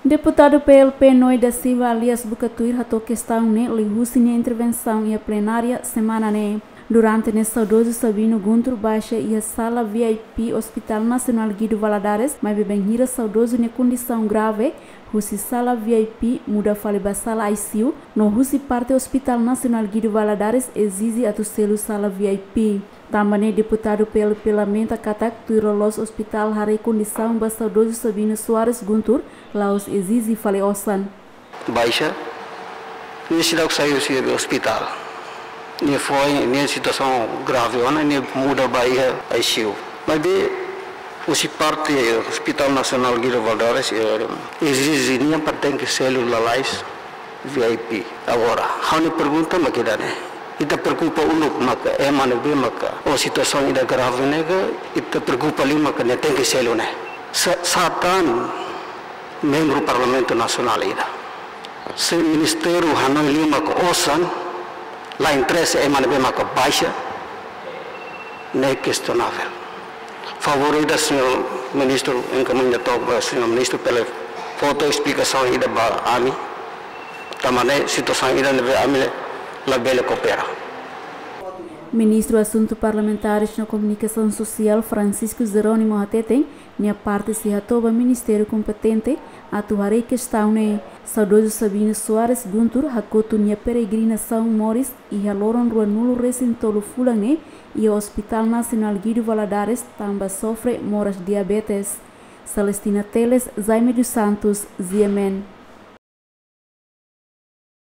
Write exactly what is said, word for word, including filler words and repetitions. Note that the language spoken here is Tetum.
Deputadu P L P Noé da Silva alias Buka Tuir hato'o kestaun ne'e liuhusi nia intervensaun iha plenária semana ne'e. Durante ne'e saudozu Sabino Guntur baixa iha sala V I P Hospital Nasionál Guido Valadares, maibé bainhira saudozu nia kondisaun grave, husi sala V I P muda fali ba sala I C U, no husi parte Hospital Nasionál Guido Valadares ezije atu selu sala V I P. Tanba ne'e deputadu P L P lamenta katak tuir loloos ospitál haree kondisaun ba saudozu Sabino Soares Guntur, la'ós ezije fali osan. Baixa, nia seidauk sai husi ospitál. Nia foin, nia situasaun grave ona, nia muda ba iha I C U. Maibé husi parte Hospital Nasionál Guido Valadares, eh, ezije nia para tenke selu lalais V I P. Agora, ha'u-nia pergunta mak ida-ne'e. Ita preokupa uluk maka ema ne'ebé maka ho situasaun ida grave ne'e ka, ita preokupa liu maka nia tenke selu ne'e. Sa, sá tan membru Parlamentu Nasionál ida. Se ministériu hanoin liu maka osan, la interesa ema ne'ebé maka baixa, ne'e kestonavel. Favór ida, señór ministru, enkamiña took ba señór ministru para fó esplikasaun ida ba ami. Tanba ne'e situasaun ida ne'ebé ami labele koopera. Ministru Asuntu Parlamentares no Komunikasaun Sosiál Francisco Jerónimo hateten, nia parte sei hato'o ba ministériu kompetente atu haree kestaun ne'e. Saudozu Sabino Soares Guntur hakotu nia peregrinasaun moris iha loron ruanulu resin tolu fulan ne'e iha Hospital Nasionál Guido Valadares tanba sofre moras diabetes. Celestina Teles, Jaime dos Santos, G M N.